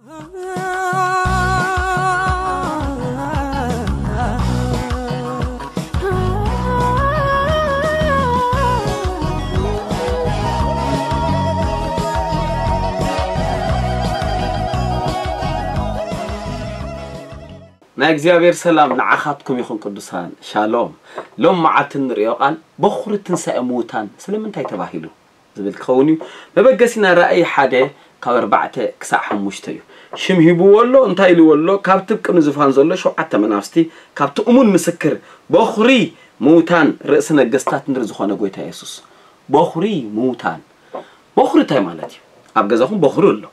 ናይ እግዚኣብሔር ሰላም ንዓኻትኩም ይኹን ቅዱሳን። ሻሎም። ሎም መዓልቲ እንርእዮ ቃል በኹሪ ትንሳኤ ምዉታን ስለምንታይ ተባሂሉ ዝብል ክኸውን እዩ። መበገሲና ራእይ ሓደ ካብ ኣርባዕተ ክሳዕ ሓሙሽተ እዩ። ሽም ሂብዎ ኣሎ። እንታይ ኢልዎ ኣሎ? ካብቲ ቅድሚ ዝፋን ዘሎ ሸውዓተ መናፍስቲ፣ ካብቲ እሙን ምስክር፣ በኹሪ ምዉታን፣ ርእሲ ነገስታት ምድሪ ዝኾነ ጎይታ የሱስ። በኹሪ ምዉታን። በኹሪ እንታይ ማለት እዩ? ኣብ ገዛኹም በኹሪ ኣሎ።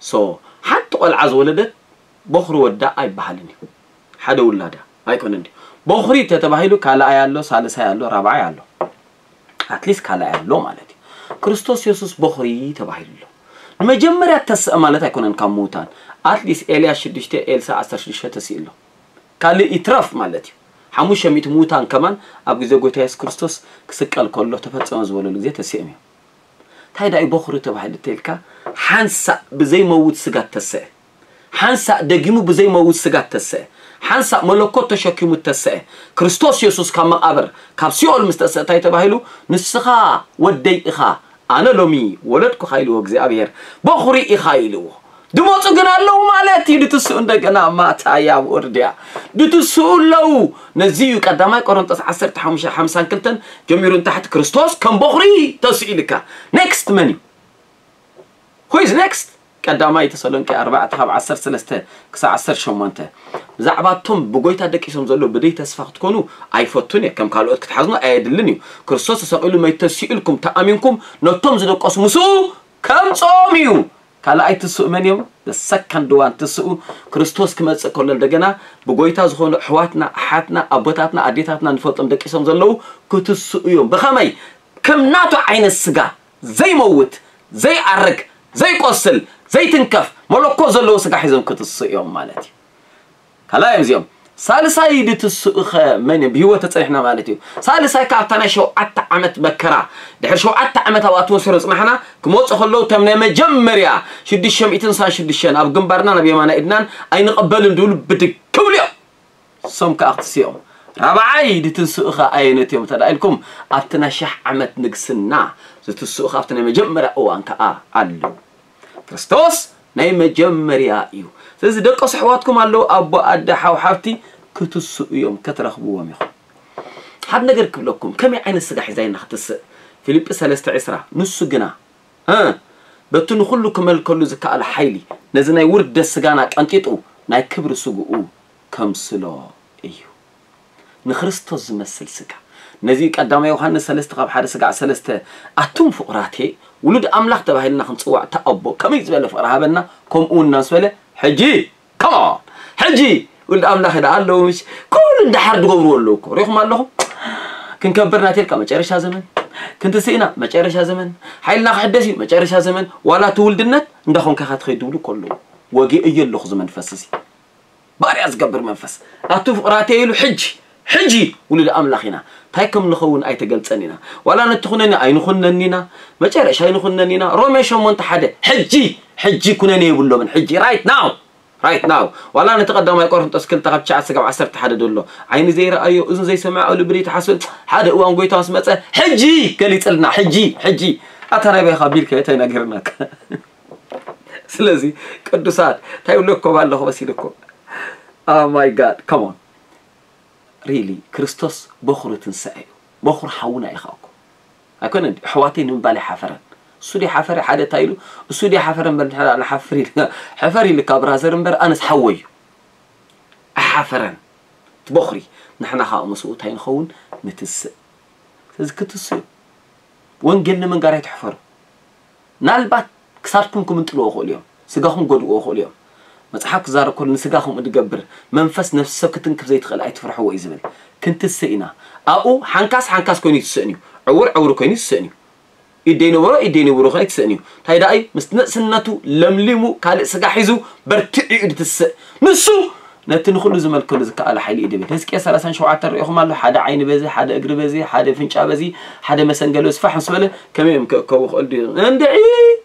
ሶ ሓንቲ ቆልዓ ዝወለደት በኹሪ ወዳ ኣይበሃልን እዩ። ሓደ ውላዳ ኣይኮነን ድዩ? በኹሪ ተተባሂሉ ካልኣይ ኣሎ፣ ሳልሳይ ኣሎ፣ ራብዓይ ኣሎ። ኣትሊስት ካልኣይ ኣሎ ማለት እዩ። ክርስቶስ የሱስ በኹሪ ተባሂሉ ኣሎ። ንመጀመርያ ተስእ ማለት ኣይኮነን ካብ ምዉታን። ኣትሊስት ኤልያስ ሽዱሽተ፣ ኤልሳ ዓሰርተ ሽዱሽተ ተሲኡ ኣሎ። ካልእ ይትረፍ ማለት እዩ። ሓሙሽተ ሚእቲ ምዉታን ከማን ኣብ ግዜ ጎይታ የሱስ ክርስቶስ ክስቀል ከሎ ተፈጸመ ዝበለሉ ግዜ ተሲኦም እዮም። እንታይ ዳዩ በኹሪ ተባሂሉ ተልካ? ሓንሳእ ብዘይመውት ስጋ ተሰአ። ሓንሳእ ደጊሙ ብዘይመውት ስጋ ተሰአ። ሓንሳእ መለኮት ተሸኪሙ ተሰአ። ክርስቶስ የሱስ ካብ መቓብር፣ ካብ ሲኦል ምስ ተሰአ እንታይ ተባሂሉ? ንስኻ ወደይ ኢኻ፣ ኣነ ሎሚ ወለድኩኻ ኢልዎ እግዚኣብሔር። በኹሪ ኢኻ ኢልዎ። ድመፁ ግን ኣለዉ ማለት እዩ። ድትስኡ እንደገና ማታያ ወርድያ ድትስኡ ኣለዉ። ነዚ እዩ ቀዳማይ ቆሮንጦስ ዓሰርተ ሓሙሽተ ሓምሳን ክልተን ጀሚሩ ንታሕቲ ክርስቶስ ከም በኹሪ ተስኡ ኢልካ። ኔክስት መን እዩ? Who is next? ቀዳማይ ተሰሎንቄ ኣርባዕተ ካብ ዓሰርተ ሰለስተ ክሳብ ዓሰርተ ሸሞንተ። ብዛዕባ እቶም ብጎይታ ደቂሶም ዘለዉ ብደይ ተስፋ ክትኮኑ ኣይፈቱን እየ። ከም ካልኦት ክትሓዝኑ ኣየድልን እዩ። ክርስቶስ ተሰቒሉ መይቱ ተሲኡ ኢልኩም ተኣሚንኩም ነቶም ዝደቀሱ ምስኡ ከምጽኦም እዩ። ካልኣይ ትስኡ መን እዮም? The second one ትስኡ ክርስቶስ ክመጽእ ከሎ እንደገና ብጎይታ ዝኾኑ ኣሕዋትና፣ ኣሓትና፣ ኣቦታትና፣ ኣዴታትና ንፈልጦም ደቂሶም ዘለዉ ክትስኡ እዮም። ብኸመይ? ከም ናቱ ዓይነት ስጋ ዘይመውት፣ ዘይኣርግ፣ ዘይቆስል፣ ዘይትንከፍ፣ መለኮት ዘለዎ ስጋ ሒዞም ክትስኡ እዮም ማለት እዩ። ካልኣይ እዮም እዚኦም። ሳልሳይ ድትስኡ ኸ መን እዮም? ብህይወት ተጸኒሕና ማለት እዩ። ሳልሳይ ከኣ ኣብታ ናይ ሸውዓተ ዓመት መከራ፣ ድሕሪ ሸውዓተ ዓመት ኣብ ኣትሞስፌር ጽናሕና ክመጹ ከለዉ፣ እቶም ናይ መጀመርያ ሽዱሽተ ሚእትን ስሳን ሽዱሽተን ኣብ ግንባርና ናብ የማናይ ኢድናን ኣይንቐበልን ድብሉ ብድግ ክብሉ እዮም። እሶም ከኣ ክትስኦም። ራብዓይ ድትንስኡ ኸ ኣየነት እዮም እንተ ደኣ ኢልኩም፣ ኣብቲ ናይ ሸሕ ዓመት ንግስና ዝትስኡ ኸ ኣብቲ ናይ መጀመርያ እዋን ከኣ ኣለዉ። ክርስቶስ ናይ መጀመርያ እዩ። ስለዚ ደቀሱ ኣሕዋትኩም ኣለዉ፣ ኣቦ፣ ኣደ፣ ሓው፣ ሓብቲ ክትስኡ እዮም፣ ከትረኽብዎም ኢኹም። ሓደ ነገር ክብለኩም፣ ከመይ ዓይነት ስጋ ሒዛ ኢና ክትስእ? ፊልጲ ሰለስተ ዕስራ፣ ንሱ ግና፣ እ፣ በቲ ንኹሉ ክመልከሉ ዝከኣሎ ሓይሊ፣ ነዚ ናይ ውርደት ስጋና ቀንጢጡ፣ ናይ ክብሪ ስግኡ ከምስሎ እዩ። ንክርስቶስ ዝመስል ስጋ። ነዚ ቀዳማይ ዮሃንስ ሰለስተ ካብ ሓደ ስጋዕ ሰለስተ፣ ኣቱም ፍቑራቴ፣ ውሉድ ኣምላኽ ተባሂልና ክንጽዋዕ እታ ኣቦ ከመይ ዝበለ ፍቕሪ ሃበና፣ ከምኡ እውን እናስ በለ፣ ሕጂ፣ come on፣ ሕጂ ውሉድ ኣምላኽ ደኣ ኣለዉ፣ ምሽ? ኩሉ እንዳሓር ዝገብርዎ ኣለዉ እኮ። ሪኹም ኣለኹም? ክንከብር ናቴልካ መጨረሻ ዘመን፣ ክንትስኢና መጨረሻ ዘመን፣ ሓይልና ክሕደስ እዩ መጨረሻ ዘመን፣ ዋላ እቲ ውልድነት እንዳኾንካ ኢኻ ትኸይድ ድብሉ እኮ ኣለዉ። ወጊኤዮ ኣለኹ እዚ መንፈስ እዚ። ባርያ ዝገብር መንፈስ። ኣቱ ፍቕራተይ ኢሉ ሕጂ፣ ሕጂ ውሉድ ኣምላኽ ኢና። እንታይ ከም ንኸውን ኣይተገልጸን ኢና። ዋላ ነቲ ኩነኒ ኣይንኹነን ኢና። መጨረሻ ኣይንኹነን ኢና። ሮሜ ሸሞንተ ሓደ፣ ሕጂ፣ ሕጂ ኩነኔ የብሎምን። ሕጂ፣ right now፣ right now። ዋላ ነቲ ቀዳማይ ቆሮንቶስ ክልተ ካብ ትሽዓተ ስጋብ ዓሰርተ ሓደ ዘሎ፣ ዓይኒ ዘይረኣዮ፣ እዝኒ ዘይሰምዖ፣ ኣብ ልቢ ዘይተሓስበን፣ ሓደ እዋን ጎይታ ምስ መጸ፣ ሕጂ ገሊጽልና፣ ሕጂ፣ ሕጂ። ኣታ ናይ ባይኻ ቢልካ እንታይ ነጊርናካ? ስለዚ ቅዱሳት እንታይ ይብለኩም ኣለኹ መሲልኩም? Oh my God, come on። Really ክርስቶስ በኹሩ ትንሳኤ እዩ። በኹር ሓውና ኢኻ እኮ። ኣይኮነን ድዩ? ኣሕዋተይ ንምባል ኣይሓፈረን። እሱ ድዩ ሓፈረ? ሓደ እንታይ ኢሉ? እሱ ድዩ ሓፈረ እምበር ንሕና ንሓፍር ኢሉ። ሕፈር ኢልካ ብራዘር እምበር ኣነስ ሓወይ እዩ። ኣይሓፈረን። እቲ በኹሪ ንሕና ከዓ ምስኡ እንታይ ንኸውን? ንትስእ። ስለዚ ክትስኡ ወንጌል ንምንጋር ኣይትሕፈሩ። ናልባት ክሳድኩም ክምንጥልዎ ይኽእሉ እዮም። ስጋኹም ክጎድእዎ ይኽእሉ እዮም። መጽሓፍ ክዛረብ ከሎ ንስጋ ከምኡ ዝገብር መንፈስ ነፍሲ ሰብ ክትንክፍ ዘይትኽእል ኣይትፍርሕዎ እዩ ዝብል። ክንትስእ ኢና። ኣብኡ ሓንካስ ሓንካስ ኮይኑ ይትስእን እዩ። ዕውር ዕውር ኮይኑ ይትስእን እዩ። ኢድ ዘይነበሮ ኢድ ዘይነበሮ ከኣ ይትስእን እዩ። እንታይ ደኣ እዩ? ምስ ንእስነቱ ለምሊሙ ካልእ ስጋ ሒዙ በርቲዑ እዩ ዝትስእ። ንሱ ነቲ ንኹሉ ዝመልከሉ ዝከኣለ ሓይሊ እዩ ድብል። ህዝቅኤል ሰላሳን ሸውዓተን ርኢኹም ኣሎ። ሓደ ዓይኒ በዚ፣ ሓደ እግሪ በዚ፣ ሓደ ፍንጫ በዚ፣ ሓደ መሰንገሊ በዚ ፋሕ ምስ በለ ከመይ እዮም ክእከቡ ክእል ድዩ? እንድዒ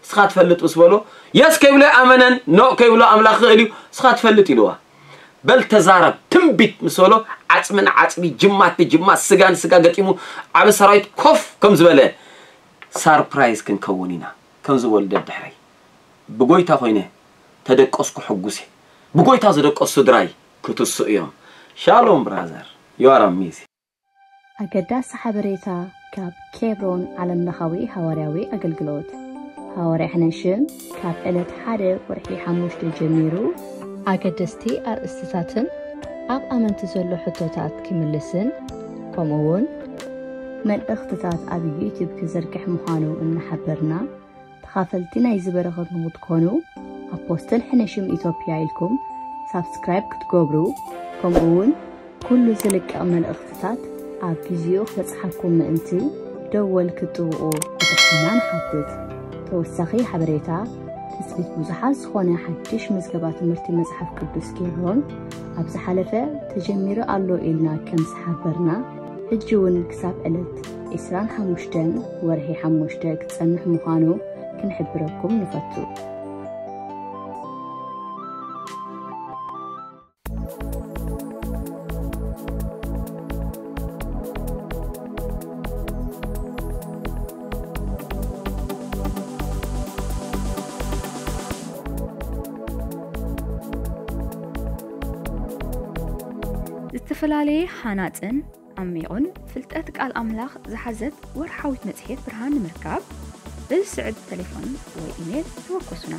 እስኻ ትፈልጥ ምስ በሎ፣ የስ ከይብሎ ኣመነን፣ ኖ ከይብሎ ኣምላኽ ክእል እዩ፣ እስኻ ትፈልጥ ኢልዋ። በል ተዛረብ፣ ትንቢት ምስ በሎ፣ ዓጽሚ ንዓጽሚ፣ ጅማት ንጅማት፣ ስጋ ንስጋ ገጢሙ፣ ዓቢ ሰራዊት ኮፍ ከም ዝበለ ሳርፕራይዝ ክንከውን ኢና። ከም ዝበሉ ደድሕረይ ብጎይታ ኮይነ ተደቀስኩ ሕጉስ እየ። ብጎይታ ዝደቀሱ ስድራይ ክትሱ እዮም። ሻሎም ብራዘር፣ you are amazing። ኣገዳሲ ሓበሬታ ካብ ኬብሮን ዓለምለኻዊ ሃዋርያዊ ኣገልግሎት። ሃዋርያ ሕነሽም ካብ ዕለት ሓደ ወርሒ ሓሙሽተ ጀሚሩ ኣገደስቲ ኣርእስትታትን ኣብ ኣመንቲ ዘሎ ሕቶታት ክምልስን ከምኡ እውን መልእኽትታት ኣብ ዩቲዩብ ክዝርግሕ ምዃኑ እናሓበርና፣ ተኻፈልቲ ናይዚ በረኸት ንክትኮኑ ኣፖስትል ሕነሽም ኢትዮጵያ ኢልኩም ሳብስክራይብ ክትገብሩ፣ ከምኡ እውን ኩሉ ዝልቀቕ መልእኽትታት ኣብ ግዚኡ ክበጽሓኩም ምእንቲ ደወል ክትጥውቑ ብትሕትና ንሓትት። ተወሳኺ ሓበሬታ፣ ትጽቢት ብዙሓት ዝኾነ ሓድሽ ምዝገባ ትምህርቲ መጽሓፍ ቅዱስ ኬብሮን ኣብ ዝሓለፈ ተጀሚሩ ኣሎ ኢልና ከም ዝሓበርና፣ ሕጂ እውን ክሳብ ዕለት ዕስራን ሓሙሽተን ወርሒ ሓሙሽተ ክጸንሕ ምዃኑ ክንሕብረኩም ንፈቱ። ዝተፈላለየ ሃናጽን ዓሚቑን ፍልጠት ቃል ኣምላኽ ዝሓዘት ወርሓዊት መጽሔት ብርሃን ንምርካብ፣ በዚ ስዕብ ተሌፎን ወይ ኢሜል ተወከሱና።